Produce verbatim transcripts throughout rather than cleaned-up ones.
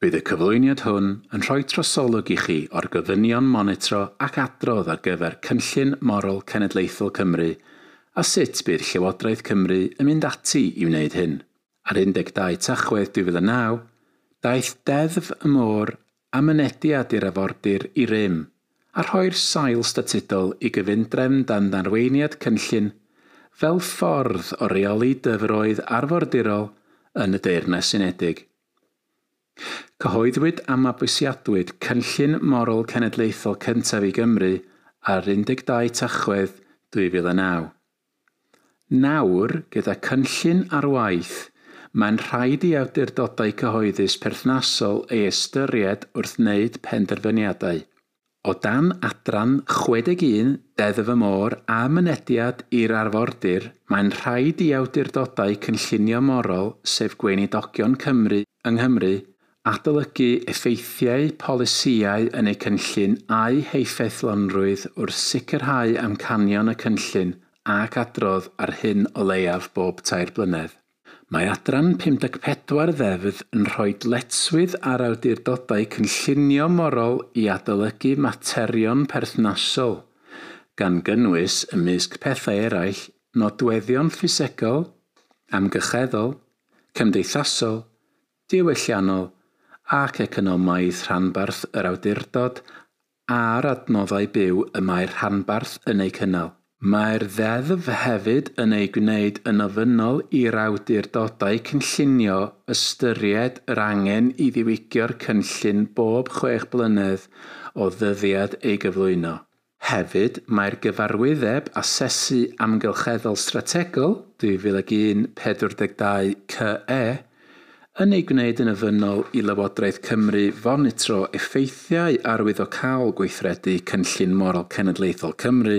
Bydd y cyflwyniad hwn yn rhoi trosolwg i chi o'r gofynion monitro ac adrodd ar gyfer Cynllun Morol Cenedlaethol Cymru a sut bydd Llywodraeth Cymru yn mynd ati i wneud hyn. Ar un deg dau Tachwedd dwy fil a naw, daeth Deddf y Môr a mynediad i'r afordir i rym a rhoi'r sail statudol i gyfundrefn dan arweiniad cynllun fel ffordd o reoli dyfroedd arfordirol yn y Deyrnas Unedig. Cyhoeddwyd a mabwysiadwyd Cynllun Morol Cenedlaethol cyntaf i Gymru ar un deg dau Tachwedd dwy fil a naw. Nawr, gyda cynllun ar waith, mae'n rhaid i awdurdodau cyhoeddus perthnasol ei ystyried wrth wneud penderfyniadau. O dan adran chwe deg un Deddf y Môr a mynediad i'r arfordir, mae'n rhaid i awdurdodau cynllunio morol, sef Gweinidogion Cymru yng Nghymru, adolygu effeithiau polisïau yn eu cynllun a'u heffeithlonrwydd wrth sicrhau amcanion y cynllun ac adrodd ar hyn o leiaf bob tair blynedd. Mae adran pum deg pedwar ddeddf yn rhoi dyletswydd ar awdurdodau cynllunio morol i adolygu materion perthnasol, gan gynnwys ymysg pethau eraill nodweddion ffisegol, amgylcheddol, cymdeithasol, diwylliannol ac economaidd rhanbarth yr awdurdod a'r adnoddau byw y mae'r rhanbarth yn eu cynnal. Mae'r ddeddf hefyd yn ei gwneud yn ofynnol i'r awdurdodau cynllunio ystyried yr angen i ddiwygio'r cynllun bob chwech blynedd o ddyddiad ei gyflwyno. Hefyd, mae'r gyfarwyddeb asesu amgylcheddol strategol dwy fil ag un pedwar deg dau C E yn ei gwneud yn ofynnol i Lywodraeth Cymru fonitro effeithiau arwyddocaol gweithredu Cynllun Morol Cenedlaethol Cymru,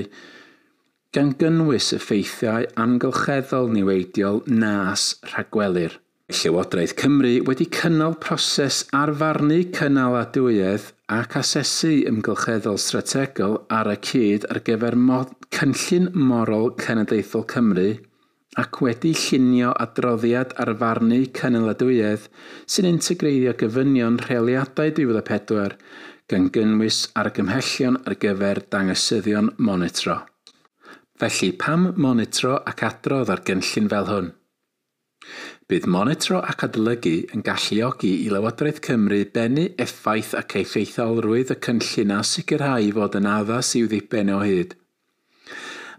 gan gynnwys effeithiau amgylcheddol niweidiol nas rhagwelir. Llywodraeth Cymru wedi cynnal proses arfarnu cynaladwyedd ac asesu amgylcheddol strategol ar y cyd ar gyfer mo-, Cynllun Morol Cenedlaethol Cymru ac wedi llunio adroddiad arfarnu cynaladwyedd sy'n integreiddio gofynion rheoliadau dwy fil a pedwar gan gynnwys argymhellion ar gyfer dangosyddion monitro. Felly, pam monitro ac adrodd ar gynllun fel hwn? Bydd monitro ac adolygu yn galluogi i Lywodraeth Cymru bennu effaith ac effeithiolrwydd y cynllun a sicrhau fod yn addas i'w ddiben o hyd.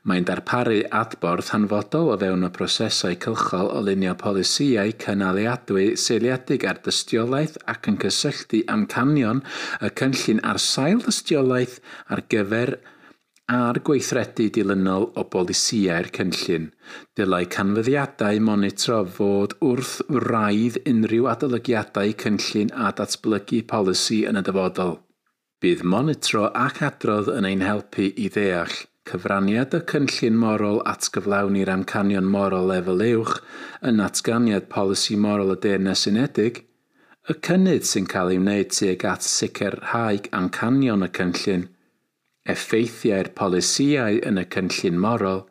Mae'n darparu adborth hanfodol o fewn y prosesau cylchol o lunio polisïau cynaliadwy seiliedig ar dystiolaeth ac yn cysylltu amcanion y cynllun ar sail dystiolaeth ar gyfer a'r gweithredu dilynol o bolisïau'r cynllun. Dylai canfyddiadau monitro fod wrth wraidd unrhyw adolygiadau cynllun a datblygu polisi yn y dyfodol. Bydd monitro ac adrodd yn ein helpu i ddeall cyfraniad y cynllun morol at gyflawni'r amcanion morol lefel uwch yn natganiad polisi morol y Deyrnas Unedig, y cynnydd sy'n cael ei wneud tuag at sicrhau amcanion y cynllun, effeithiau'r polisïau yn y cynllun morol,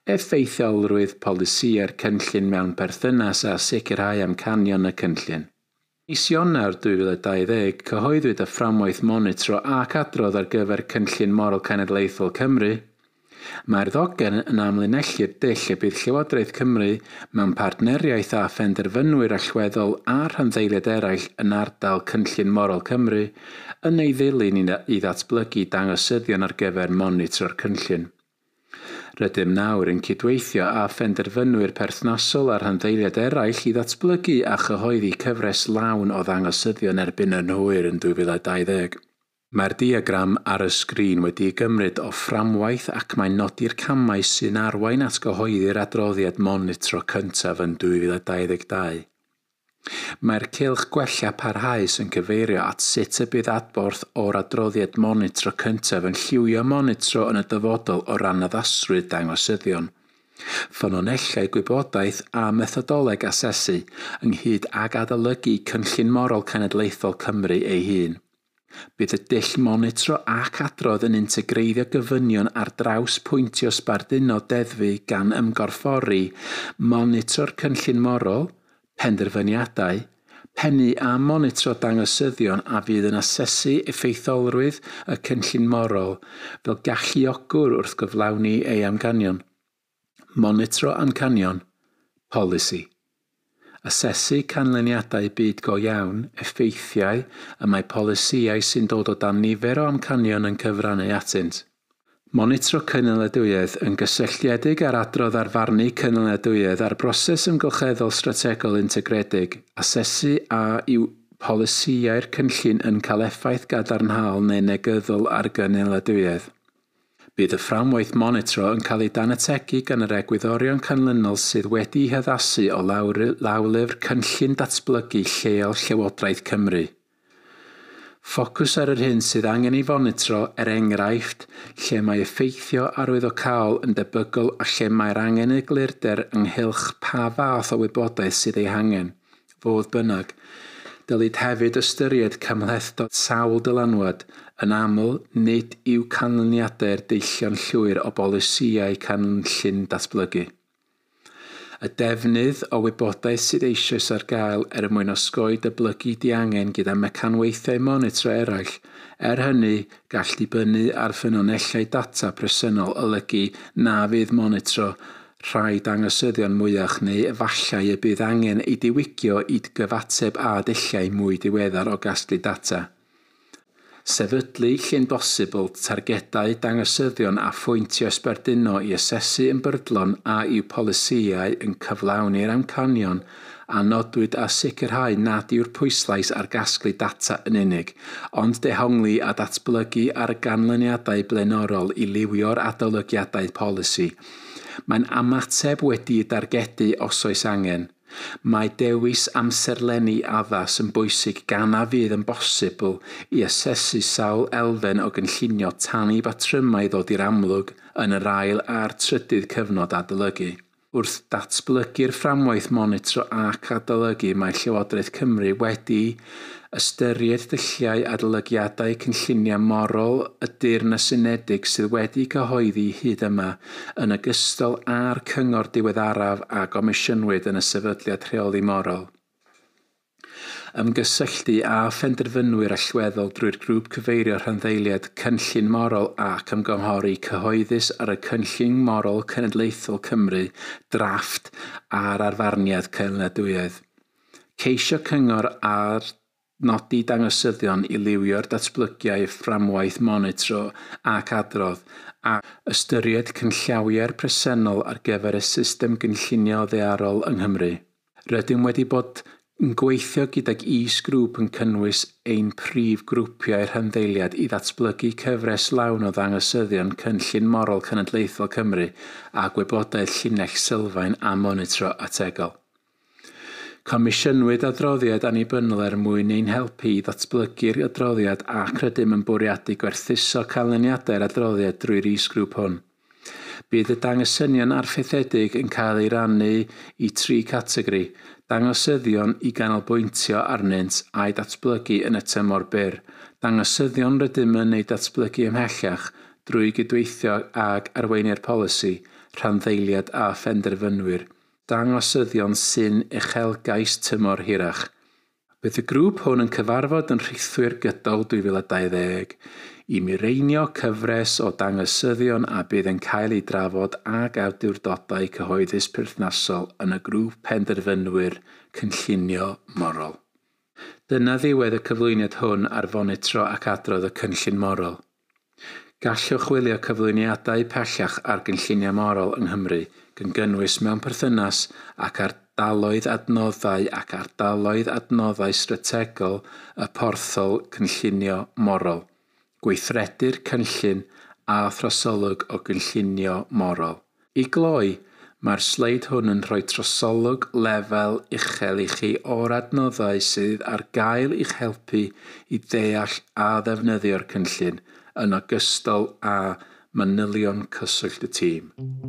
effeithiolrwydd polisïau'r cynllun mewn perthynas â sicrhau amcanion y cynllun. Mis Ionawr dwy fil a dau ddeg, cyhoeddwyd y fframwaith monitro ac adrodd ar gyfer Cynllun Morol Cenedlaethol Cymru. Mae'r ddogfen yn amlinellu'r dull y bydd Llywodraeth Cymru mewn partneriaeth â phenderfynwyr allweddol a rhanddeiliaid eraill yn ardal Cynllun Morol Cymru yn ei ddilyn i ddatblygu dangosyddion ar gyfer monitro'r cynllun. Rydym nawr yn cydweithio â phenderfynwyr perthnasol a rhanddeiliaid eraill i ddatblygu a chyhoeddi cyfres lawn o ddangosyddion erbyn yn hwyr yn dwy fil a dau ddeg. Mae'r diagram ar y sgrin wedi'i gymryd o fframwaith ac mae'n nodi'r camau sy'n arwain at gyhoeddi'r adroddiad monitro cyntaf yn dwy fil a dau ddeg dau. Mae'r cylch gwella parhaus yn cyfeirio at sut y bydd adborth o'r adroddiad monitro cyntaf yn lliwio monitro yn y dyfodol o ran addasrwydd dangosyddion, ffynonellau gwybodaeth a methodoleg asesu ynghyd ag adolygu Cynllun Morol Cenedlaethol Cymru ei hun. Bydd y dull monitro ac adrodd yn integreiddio gofynion ar draws pwyntio sbarduno deddfu gan ymgorffori monitro'r cynllun morol, penderfyniadau, Pennu a monitro dangosyddion a fydd yn asesu effeithiolrwydd y cynllun morol fel galluogwr wrth gyflawni ei amcanion. Monitro amcanion, polisi. Asesu canlyniadau byd go iawn, effeithiau y mae polisïau sy'n dod o dan nifer o amcanion yn cyfrannu atynt. Monitro cynaliadwyedd yn gysylltiedig â'r adrodd ar farnu cynaliadwyedd a'r broses ymgylcheddol strategol integredig, asesu a yw polisïau'r cynllun yn cael effaith gadarnhaol neu negyddol ar gynaliadwyedd. Bydd y fframwaith monitro yn cael ei danategu gan yr egwyddorion canlynol sydd wedi'u haddasu o lawlyfr Cynllun Datblygu Lleol Llywodraeth Cymru. Ffocws ar yr hyn sydd angen ei fonitro, er enghraifft, lle mae effeithio arwyddocaol yn debygol a lle mae'r angen eglurder ynghylch pa fath o wybodaeth sydd ei hangen. Fodd bynnag, dylid hefyd ystyried cymhlethdod sawl dylanwad, yn aml nid yw canlyniadau'r deillio'n llwyr o bolisïau cynllun datblygu. Y defnydd o wybodaeth sydd eisoes ar gael er mwyn osgoi dyblygu diangen gyda mecanweithiau monitro eraill, er hynny gall dibynnu ar ffynonellau data presennol olygu na fydd monitro rhai dangosyddion mwyach neu efallai y bydd angen ei diwygio i gyfateb â dulliau mwy diweddar o gasglu data. Sefydlu lle'n bosibl targedau dangosyddion a phwyntiau sbarduno i asesu yn brydlon a yw polisïau yn cyflawni'r amcanion a nodwyd a sicrhau nad yw'r pwyslais ar gasglu data yn unig, ond dehongli a datblygu ar ganlyniadau blaenorol i liwio'r adolygiadau polisi. Mae'n ymateb wedi'i dargedu os oes angen. Mae dewis amserlenni addas yn bwysig gan na fydd yn bosibl i asesu sawl elfen o gynllunio tan i batrymau ddod i'r amlwg yn yr ail a'r trydydd cyfnod adolygu. Wrth datblygu'r fframwaith monitro ac adolygu, mae Llywodraeth Cymru wedi ystyried dulliau adolygiadau cynlluniau morol y Deyrnas Unedig sydd wedi cyhoeddi hyd yma, yn ogystal â'r cyngor diweddaraf a gomisiynwyd yn y Sefydliad Rheoli Morol. Ymgysylltu â phenderfynwyr allweddol drwy'r grŵp cyfeirio rhanddeiliad Cynllun Morol ac ymgynghori cyhoeddus ar y Cynllun Morol Cenedlaethol Cymru drafft a'r arfarniad cynaliadwyedd. Ceisio cyngor ar nodi dangosyddion i liwio'r datblygiau fframwaith monitro ac adrodd a ystyried cynllawiau'r presennol ar gyfer y system gynllunio ddaearol yng Nghymru. Rydym wedi bod yn gweithio gydag is-grŵp yn cynnwys ein prif grwpiau rhanddeiliad i ddatblygu cyfres lawn o ddangosyddion Cynllun Morol Cenedlaethol Cymru a gwybodaeth llinell sylfaen a monitro ategol. Comisiynwyd adroddiad annibynnol er mwyn ein helpu i ddatblygu'r adroddiad ac rydym yn bwriadu gwerthuso canlyniadau'r adroddiad drwy'r is-grŵp hwn. Bydd y dangosynion arfaethedig yn cael ei rannu i tri categori, dangosyddion i ganolbwyntio arnynt a'i datblygu yn y tymor byr, dangosyddion rydym yn eu datblygu ymhellach drwy gydweithio ag arweinwyr polisi, rhanddeiliad a phenderfynwyr, dangosyddion sy'n uchelgais tymor hirach. Bydd y grŵp hwn yn cyfarfod yn rhithwir gydol dwy fil a dau ddeg i mireinio cyfres o dangosyddion a bydd yn cael ei drafod ag awdurdodau cyhoeddus perthnasol yn y grŵp penderfynwyr cynllunio morol. Dyna ddiwedd y cyflwyniad hwn ar fonitro ac adrodd y cynllun morol. Gallwch wylio cyflwyniadau pellach ar gynlluniau morol yng Nghymru, gan gynnwys mewn perthynas ac ardaloedd adnoddau ac ardaloedd adnoddau strategol y porthol cynllunio morol, gweithredu'r cynllun a throsolwg o gynllunio morol. I gloi, mae'r sleid hwn yn rhoi trosolwg lefel uchel i chi o'r adnoddau sydd ar gael i'ch helpu i ddeall a ddefnyddio'r cynllun, yn ogystal â manylion cyswllt y tîm.